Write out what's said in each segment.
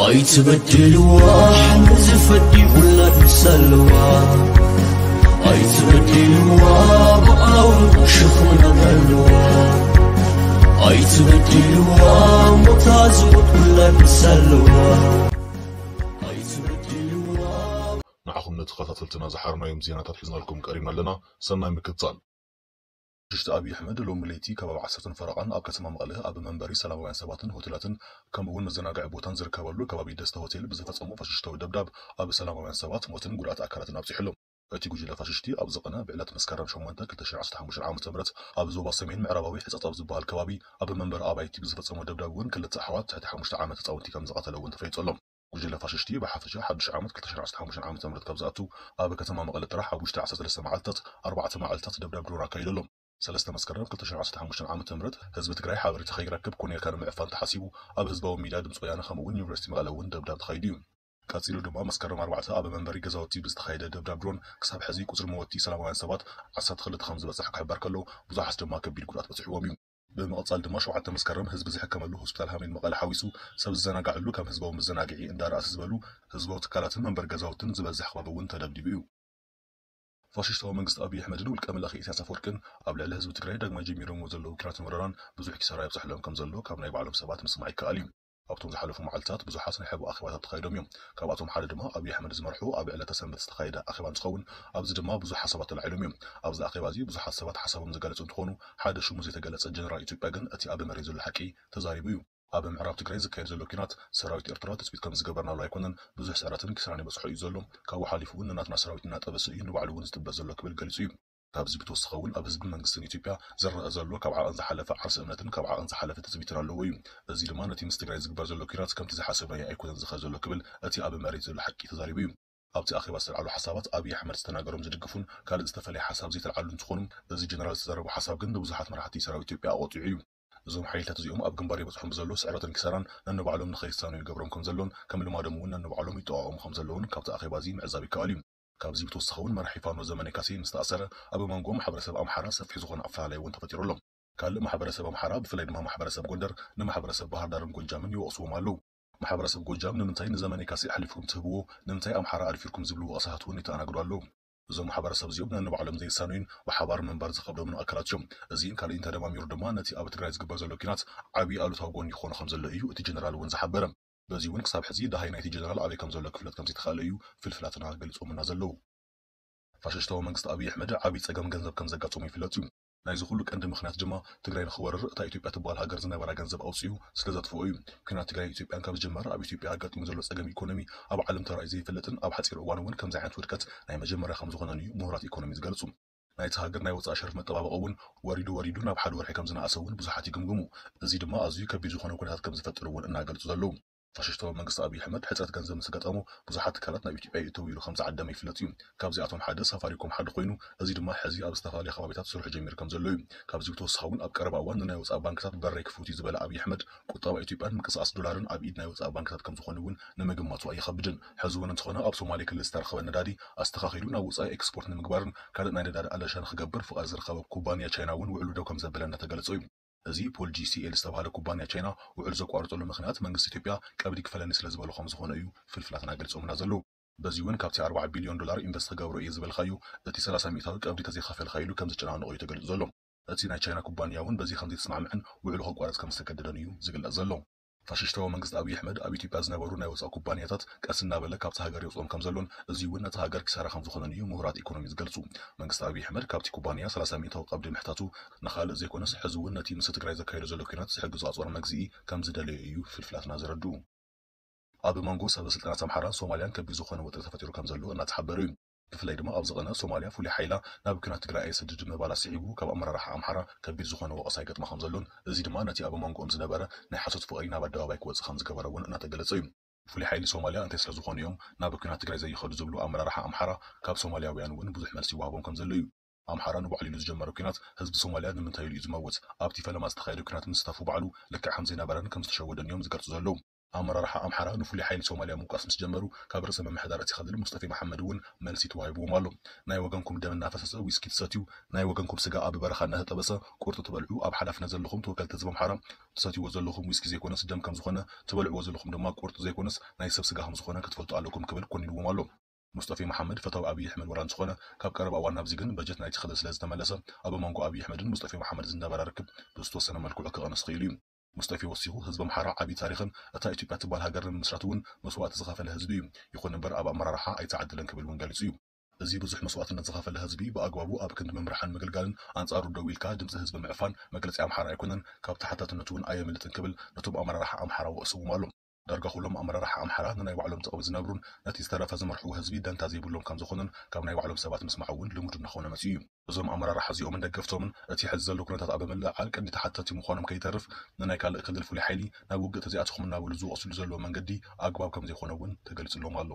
ኣይትበድልዋ፣ ንዝፈዲ ውላድ ምስ ኣለዋ። ኣይትበድልዋ፣ ብኣውሩ ሸኽሚ ናት ኣለዋ። ኣይትበድልዋ፣ ሞታ ዝሞት ውላድ ምስ ኣለዋ። ኣይትበድልዋ። ንዓኹም ንተኸታተልትና ዝሓርናዮም ዜናታት ሒዝናልኩም ቀሪብና ኣለና። ሰናይ ምክትታል። ሽሽቲ ኣብይ ኣሕመድ ሎሚ ለይቲ ከባቢ ዓሰርተ ፈረቓን ኣብ ከተማ መቐለ ኣብ መንበሪ ሰላማውያን ሰባትን ሆቴላትን ከምኡ እውን መዘናግዒ ቦታን ዝርከበሉ ከባቢ ደስታ ሆቴል ብዝፈጸሞ ፋሽስታዊ ደብዳብ ኣብ ሰላማውያን ሰባት ሞትን ጉድኣት ኣካላትን ኣብጺሑ ኣሎ። እቲ ጉጅለ ፋሽስቲ ኣብ ዝቐነ ብዕለት መስከረም ሸሞንተ ክልተ ሽሕን ዓሰርተ ሓሙሽተን ዓመተ ምህረት ኣብ ዞባ ሰሜን ምዕራባዊ ሕጸጽ ኣብ ዝበሃል ከባቢ ኣብ መንበሪ ኣባይቲ ብዝፈጸሞ ደብዳብ እውን ክልተ ኣሕዋት ትሕቲ ሓሙሽተ ዓመት ህጻውንቲ ከም ዝቐተለ እውን ተፈሊጡ ኣሎ። ጉጅለ ፋሽስቲ ብሓፈሻ ሓድሽ ዓመት ክልተ ሽሕን ዓሰርተ ሓሙሽተን ዓመተ ምህረት ካብ ዝኣቱ ኣብ ከተማ መቐለ ጥራሕ ኣብ ውሽጢ ዓሰርተ ሰለስተ መዓልታት ኣርባዕተ መዓልታት ደብዳብ ድሮን ኣካይዱ ኣሎ። ሰለስተ መስከረም ክልተ ሽሕን ዓሰርተ ሓሙሽተን ዓመተ ምህረት ህዝቢ ትግራይ ሓበሬታ ከይረክብ ኮነ ኢልካ ንምዕፋን ተሓሲቡ ኣብ ህዝባዊ ሚድያ ድምፂ ወያነ ከምኡ እውን ዩኒቨርሲቲ መቐለ እውን ደብዳብ ተኻይዱ እዩ። ቀፂሉ ድማ መስከረም ኣርባዕተ ኣብ መንበሪ ገዛውቲ ብዝተኻየደ ደብዳብ ድሮን ክሳብ ሕዚ ቁፅሪ መወቲ ሰላማውያን ሰባት ዓሰርተ ክልተ ከም ዝበፅሕ ክሕበር ከሎ ብዙሓት ድማ ከቢድ ጉድኣት በፅሕዎም እዩ። ብምቕፃል ድማ ሸውዓተ መስከረም ህዝቢ ዝሕከመሉ ሆስፒታል ሃሚን መቐለ ሓዊሱ ሰብ ዝዘናጋዕሉ ከም ህዝባዊ መዘናግዒ እንዳ ራእሲ ዝበሉ ህዝባዊ ትካላትን መንበሪ ገዛውትን ዝበዝሕ ከባቢ እውን ተደብዲቡ እዩ። ፋሽስታዊ መንግስቲ ኣብይ ኣሕመድን ውልቀ መላኺ ኢሳያስ ኣፈወርቅን ኣብ ልዕሊ ህዝቢ ትግራይ ዳግማይ ጀሚሮምዎ ዘለዉ ኲናትን ወረራን ብዙሕ ኪሳራ የብፅሐሎም ከም ዘሎ ካብ ናይ ባዕሎም ሰባት ምስማዕ ይከኣል እዩ። ኣብቶም ዝሓለፉ መዓልታት ብዙሓት ናይ ሕቡእ ኣኼባታት ተኻይዶም እዮም። ካብኣቶም ሓደ ድማ ኣብይ ኣሕመድ ዝመርሑ ኣብ ዕለተ ሰንበት ዝተኻየደ ኣኼባ እንትኸውን ኣብዚ ድማ ብዙሕ ሓሳባት ተላዒሎም እዮም። ኣብዚ ኣኼባ እዚ ብዙሓት ሰባት ሓሳቦም ዝገለጹ እንትኾኑ ሓደ ሽሙ ዘይተገለጸ ጀነራል ኢትዮጵያ ግን እቲ ኣብ መሬት ዘሎ ሓቂ ተዛሪቡ እዩ። ኣብ ምዕራብ ትግራይ ዝካየድ ዘሎ ኲናት ሰራዊት ኤርትራ ትፅቢት ከም ዝገበርናሉ ኣይኮነን። ብዙሕ ስዕረትን ኪሳራን ይበፅሖ እዩ ዘሎ። ካብኡ ሓሊፉ እውን ንናትና ሰራዊት እናጠበሰ እዩ ንባዕሉ እውን ዝጥበስ ዘሎ ክብል ገሊፁ እዩ። ካብዚ ብተወሳኺ እውን ኣብ ህዝብን መንግስትን ኢትዮጵያ ዝረአ ዘሎ ካብ ዓቐን ዝሓለፈ ዓርሰ እምነትን ካብ ዓቐን ዝሓለፈ ትፅቢትን ኣለዎ እዩ። እዚ ድማ ነቲ ምስ ትግራይ ዝግበር ዘሎ ኲናት ከምቲ ዝሓሰብናዮ ኣይኮነን ዝኸድ ዘሎ ክብል እቲ ኣብ መሬት ዘሎ ሓቂ ተዛሪቡ እዩ። ኣብቲ ኣኼባ ዝተልዓሉ ሓሳባት ኣብይ ኣሕመድ ዝተናገሮም ዝድግፉን ካልእ ዝተፈለየ ሓሳብ ዘይተልዓሉ እንትኾኑ እዚ ጀነራል ዝተዛረቦ ሓሳብ ግን ንብዙሓት መራሕቲ ሰራዊት ኢትዮጵያ ኣቖጢዑ እዩ። እዞም ሓይልታት እዚኦም ኣብ ግንባር ይበፅሖም ብዘሎ ስዕረትን ኪሳራን ነንባዕሎም ንኸይሳኑ ይገብሮም ከም ዘሎን ከም ልማዶም እውን ነንባዕሎም ይጠቓቐሙ ከም ዘለውን ካብቲ ኣኼባ እዚ ምዕዛብ ይከኣል እዩ። ካብዚ ብተወሳኺ እውን መራሒ ፋኖ ዘመነ ካሴ ምስ ተኣሰረ ኣብ መንጎ ማሕበረሰብ ኣምሓራ ሰፊሕ ዝኾነ ኣፈላላይ እውን ተፈጢሩ ኣሎ። ካልእ ማሕበረሰብ ኣምሓራ ብፍላይ ድማ ማሕበረሰብ ጎንደር ንማሕበረሰብ ባህር ዳርን ጎጃምን ይወቕስዎም ኣለዉ። ማሕበረሰብ ጎጃም ንምንታይ ንዘመነ ካሴ ኣሕሊፍኩም ትህብዎ፣ ንምንታይ ኣምሓራ ኣድፊርኩም ዝብሉ ወቐሳታት እውን ይተኣናግዱ ኣለዉ። እዞም ማሕበረሰብ እዚኦም ነንባዕሎም ዘይሳነዩን ብሓባር ምንባር ዝኸብዶምን ኣካላት እዮም። እዚን ካልእን ተደማሚሩ ድማ ነቲ ኣብ ትግራይ ዝግበር ዘሎ ኲናት ዓብዪ ኣሉታዊ ጎኒ ይኾኖ ከም ዘሎ እዩ እቲ ጀነራል እውን ዝሓበረ። በዚ እውን ክሳብ ሕዚ ደሃይ ናይቲ ጀነራል ኣበይ ከም ዘሎ ክፍለጥ ከም ዘይተኻእለ እዩ ፍልፍላትና ገሊጾምና ዘለዉ። ፋሽስታዊ መንግስቲ ኣብይ ኣሕመድ ዓብዪ ጸገም ገንዘብ ከም ዘጋጠሞ ይፍለጥ እዩ። ናይዚ ኩሉ ቀንዲ ምኽንያት ድማ ትግራይ ንኽወርር እታ ኢትዮጵያ ትበሃል ሃገር ዝነበራ ገንዘብ ኣውፂኡ ስለ ዘጥፍኦ እዩ። ኲናት ትግራይ ኢትዮጵያን ካብ ዝጅመር ኣብ ኢትዮጵያ ኣጋጢሙ ዘሎ ጸገም ኢኮኖሚ ኣብ ዓለም ተራእዩ ዘይፈልጥን ኣብ ሓፂር እዋን እውን ከምዚ ዓይነት ውድቀት ናይ መጀመርያ ከም ዝኾነን እዩ ምሁራት ኢኮኖሚ ዝገልጹ። ናይቲ ሃገር ናይ ወፃኢ ሸርፊ መጠባበቒ እውን ወሪዱ ወሪዱ ናብ ሓደ ወርሒ ከም ዝነኣሰ እውን ብዙሓት ይግምግሙ። እዚ ድማ ኣዝዩ ከቢድ ዝኾነ ኩነታት ከም ዝፈጥር እውን እናገልጹ ዘለዉ። ፋሽስታዊ መንግስቲ ኣብይ ኣሕመድ ሕፅረት ገንዘብ ምስ ኣጋጠሞ ብዙሓት ትካላት ናብ ኢትዮጵያ ይእተው ኢሉ ከም ዝዓደመ ይፍለጥ እዩ። ካብዚኣቶም ሓደ ሳፋሪኮም ሓደ ኮይኑ እዚ ድማ ሕዚ ኣብ ዝተፈላለዩ ከባቢታት ስርሑ ጀሚሩ ከም ዘሎ እዩ። ካብዚ ብተወሳኺ እውን ኣብ ቀረባ እዋን ንናይ ወፃኢ ባንክታት በረይ ክፉት እዩ ዝበለ ኣብይ ኣሕመድ ቁጠባ ኢትዮጵያን ምንቅስቃስ ዶላርን ኣብ ኢድ ናይ ወፃኢ ባንክታት ከም ዝኾኑ እውን ንምግማቱ ኣይኸብድን። ሕዚ እውን እንተኾነ ኣብ ሶማሌ ክልል ዝተረኸበ ነዳዲ ኣስተኻኺሉ ናብ ወፃኢ ኤክስፖርት ንምግባርን ካልእ ናይ ነዳዲ ኣለሻ ንክገብር ፍቓድ ዝረኸበ ኩባንያ ቻይና እውን ውዕሉ ደው ከም ዘበለ እናተገለጸ እዩ። እዚ ፖል ጂ ሲ ኤል ዝተባህለ ኩባንያ ቻይና ውዕል ዘቋርጠሉ ምኽንያት መንግስቲ ኢትዮጵያ ቀብዲ ክፈለኒ ስለ ዝበሎ ከም ዝኾነ እዩ ፍልፍላትና ገሊጾምና ዘለዉ። በዚ እውን ካብቲ ኣርባዓ ቢልዮን ዶላር ኢንቨስት ክገብሮ እየ ዝበልካዮ እቲ ሰላሳ ሚእታዊ ቀብዲ ተዘይኸፈልካ ኢሉ ከም ዝጨናነቆ እዩ ተገሊጹ ዘሎ። እቲ ናይ ቻይና ኩባንያ እውን በዚ ከም ዘይተስማዕምዕን ውዕሉ ከቋርጽ ከም ዝተገደደን እዩ ዝግለጽ ዘሎ። ፋሽስታዊ መንግስቲ ኣብይ ኣሕመድ ኣብ ኢትዮጵያ ዝነበሩ ናይ ወፃኢ ኩባንያታት ቀስ እናበለ ካብቲ ሃገር የውፅኦም ከም ዘሎን እዚ እውን ነቲ ሃገር ኪሳራ ከም ዝኾነን እዩ ምሁራት ኢኮኖሚ ዝገልጹ። መንግስቲ ኣብይ ኣሕመድ ካብቲ ኩባንያ ሰላሳ ሚእታዊ ቀብዲ ምሕታቱ ንኻልእ ዘይኮነስ ሕዚ እውን ነቲ ምስ ትግራይ ዘካየዶ ዘሎ ኲናት ዝሕግዞ ኣፅዋር መግዝኢ ከም ዝደለዮ እዩ ፍልፍላትና ዘረድኡ። ኣብ መንጎ ሰበ ስልጣናት ኣምሓራን ሶማልያን ከቢድ ዝኾነ ወጥሪ ተፈጢሩ ከም ዘሎ እናተሓበረ እዩ። ብፍላይ ድማ ኣብ ዝቐነ ሶማልያ ፍሉይ ሓይላ ናብ ኲናት ትግራይ ኣይሰድድ ምባላ ስዒቡ ካብ ኣመራርሓ ኣምሓራ ከቢድ ዝኾነ ወቐሳ ይገጥማ ከም ዘሎን እዚ ድማ ነቲ ኣብ መንጎኦም ዝነበረ ናይ ሓሶት ፍቕሪ ናብ ኣደባባይ ክወፅእ ከም ዝገበረ እውን እናተገለጸ እዩ። ፍሉይ ሓይሊ ሶማልያ እንታይ ስለ ዝኾኑ እዮም ናብ ኲናት ትግራይ ዘይኸዱ ዝብሉ ኣመራርሓ ኣምሓራ ካብ ሶማልያውያን እውን ብዙሕ መልሲ ይወሃቦም ከም ዘሎ እዩ። ኣምሓራ ንባዕሉ ኢሉ ዝጀመረ ኲናት ህዝቢ ሶማልያ ንምንታይ ኢሉ እዩ ዝመውት? ኣብቲ ፈለማ ዝተኻየደ ኲናት ምስታፉ ባዕሉ ልክዕ ከም ዘይነበረን ከም ዝተሸወደን እዮም ዝገልጹ ዘለዉ። ኣመራርሓ ኣምሓራ ንፍሉይ ሓይሊ ሶማልያ ምውቃስ ምስ ጀመሩ፣ ካብ ርእሰ ምምሕዳር እቲ ክልል ሙስጠፌ መሓመድ እውን መልሲ ተዋሂብዎም ኣሎ። ናይ ወገንኩም ደም እናፈሰሰ ዊስኪ ትሰትዩ፣ ናይ ወገንኩም ስጋ ኣብ በረኻ እናተጠበሰ ቁርጢ ትበልዑ፣ ኣብ ሓላፍነት ዘለኹም ተወከልቲ ህዝቢ ኣምሓራ፣ ትሰትይዎ ዘለኹም ዊስኪ ዘይኮነስ ደም ከም ዝኾነ፣ ትበልዕዎ ዘለኹም ድማ ቁርጢ ዘይኮነስ ናይ ሰብ ስጋ ከም ዝኾነ ክትፈልጡ ኣለኩም ክብል ኮኒንዎም ኣሎ። ሙስጠፌ መሓመድ ፈታዊ ኣብይ ኣሕመድ ወላ እንተኾነ፣ ካብ ቀረባ እዋን ናብዚ ግን በጀት ናይቲ ክልል ስለ ዝተመለሰ፣ ኣብ መንጎ ኣብይ ኣሕመድን ሙስጠፌ መሓመድ ዝነበረ ርክብ ብዝተወሰነ መልክዑ ክቐንስ ክኢሉ እዩ። ሙስጠፌ ወሲኹ፣ ህዝቢ ኣምሓራ ዓብዪ ታሪኽን እታ ኢትዮጵያ ትበሃል ሃገር ንምምስራት እውን መስዋእቲ ዝኸፈለ ህዝቢ እዩ። ይኹን እምበር ኣብ ኣመራርሓ ኣይተዓደለን ክብል እውን ገሊጹ እዩ። እዚ ብዙሕ መስዋእትነት ዝኸፈለ ህዝቢ ብኣግባቡ ኣብ ክንዲ ምምርሓን ምግልጋልን ኣንጻሩ ደው ኢልካ ድምፂ ህዝቢ ምዕፋን መግለፂ ኣምሓራ ኣይኮነን፣ ካብ ተሓታትነቱ እውን ኣየምልጥን ክብል ነቶም ኣመራርሓ ኣምሓራ ወቕስዎም ኣሎ። ዳርጋ ኩሎም ኣመራርሓ ኣምሓራ ንናይ ባዕሎም ጥቕሚ ዝነብሩን ነቲ ዝተረፈ ዝመርሕዎ ህዝቢ ደንታ ዘይብሎም ከም ዝኾኑን ካብ ናይ ባዕሎም ሰባት ምስማዕ እውን ልሙድ እናኾነ መፂኡ እዩ። እዞም ኣመራርሓ እዚኦምን ደገፍቶምን እቲ ሕዚ ዘሎ ኩነታት ኣብ ምልዕዓል ቀንዲ ተሓተቲ ምዃኖም ከይተርፍ ንናይ ካልእ ክልል ፍሉይ ሓይሊ ናብ ውግእ ተዚኣትኹም እናበሉ ዝወቕስሉ ዘለዉ መንገዲ ኣግባብ ከም ዘይኮነ እውን ተገሊጹሎም ኣሎ።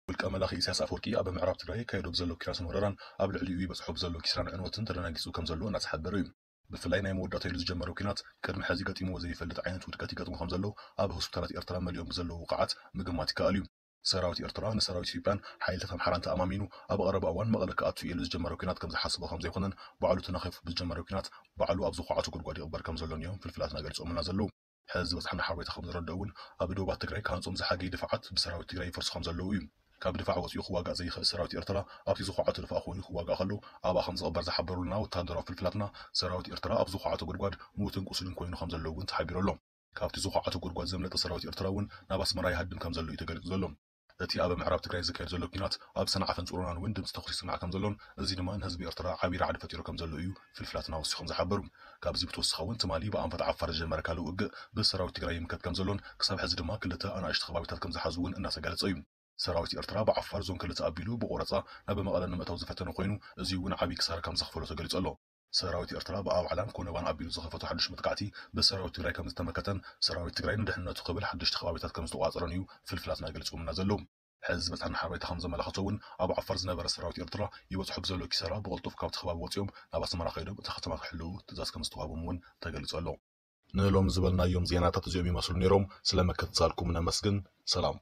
ውልቀ መላኺ ኢሳያስ ኣፈወርቂ ኣብ ምዕራብ ትግራይ ይካየዶ ብዘሎ ኪራስን ወረራን ኣብ ልዕሊኡ ይበጽሖ ብዘሎ ኪስራን ዕንወትን ተደናጊጹ ከም ዘሎ እናተሓበረ እዩ። ብፍላይ ናይ መወዳእታ ኢሉ ዝጀመረ ኲናት ቅድሚ ሕዚ ገጢምዎ ዘይፈልጥ ዓይነት ውድቀት ይገጥሞ ከም ዘሎ ኣብ ሆስፒታላት ኤርትራ መሊኦም ብዘለዉ ውቃዓት ምግማት ይከኣል እዩ። ሰራዊት ኤርትራ ንሰራዊት ኢትዮጵያን ሓይልታት ኣምሓራን ተኣማሚኑ ኣብ ቀረባ እዋን መቐለ ክኣቱ ኢሉ ዝጀመረ ኲናት ከም ዝሓሰቦ ከም ዘይኮነን ባዕሉ ተናኺፉ ብዝጀመረ ኲናት ባዕሉ ኣብ ዝኹዓቶ ጉድጓድ ይቕበር ከም ዘሎን እዮም ፍልፍላትና ገሊጾምልና ዘለዉ። ሕዚ ዝበጽሐና ሓበሬታ ከም ዘረድኦ እውን ኣብ ዶባት ትግራይ ክሃንጾም ዝሓገዩ ድፋዓት ብሰራዊት ትግራይ ይፈርሱ ከም ዘለዉ እዩ። ካብ ድፋዕ ወፂኡ ክዋጋእ ዘይኽእል ሰራዊት ኤርትራ ኣብቲ ዝኹዓቶ ድፋዕ ኮይኑ ክዋጋእ ከሎ ኣብኣ ከም ዝቕበር ዝሓበሩልና ወታደራዊ ፍልፍላትና፣ ሰራዊት ኤርትራ ኣብ ዝኹዓቶ ጉድጓድ ምዉትን ቁሱልን ኮይኑ ከም ዘሎ እውን ተሓቢሩ ኣሎ። ካብቲ ዝኹዓቶ ጉድጓድ ዘምለጠ ሰራዊት ኤርትራ እውን ናብ ኣስመራ ይሃድም ከም ዘሎ እዩ ተገሊጹ ዘሎ። እቲ ኣብ ምዕራብ ትግራይ ዝካየድ ዘሎ ኲናት ኣብ ሰንዓፈን ጽሮናን እውን ድምፂ ተኹሲ ይስማዕ ከም ዘሎን እዚ ድማ ንህዝቢ ኤርትራ ዓብዪ ራዕዲ ፈጢሩ ከም ዘሎ እዩ ፍልፍላትና ወሲኾም ዝሓበሩ። ካብዚ ብተወሳኺ እውን ትማሊ ብኣንፈት ዓፋር ዝጀመረ ካልእ ውግእ ብሰራዊት ትግራይ ይምከት ከም ዘሎን ክሳብ ሕዚ ድማ ክልተ ኣናእሽቱ ከባቢታት ከም ዝሓዙ እውን እናተገለጸ እዩ። ሰራዊት ኤርትራ ብዓፋር ዞን ክልተ ኣቢሉ ብቆረፃ ናብ መቐለ ንምእታው ዝፈተነ ኮይኑ እዚ እውን ዓብዪ ክሳራ ከም ዘኽፈሎ ተገሊጹ ኣሎ። ሰራዊት ኤርትራ ብኣውዓላን ኮነባን ኣቢሉ ዝኸፈቶ ሓድሽ መጥቃዕቲ ብሰራዊት ትግራይ ከም ዝተመከተን ሰራዊት ትግራይ ንድሕንነቱ ክብል ሓደሽቲ ከባቢታት ከም ዝተቋጸረን እዩ ፍልፍላትና ገሊጾምና ዘለዉ። ሕዚ ዝበጽሐና ሓበሬታ ከም ዘመላኽቶ እውን ኣብ ዓፋር ዝነበረ ሰራዊት ኤርትራ ይበጽሖ ብዘሎ ኪሳራ ብቕልጡፍ ካብቲ ከባቢ ወጺኦም ናብ ኣስመራ ከይዶም እታ ከተማ ክሕልዉ ትእዛዝ ከም ዝተዋህቦም እውን ተገሊጹ ኣሎ። ንሎም ዝበልናዮም ዜናታት እዚኦም ይመስሉ ነይሮም። ስለ ምክትታልኩም ነመስግን። ሰላም።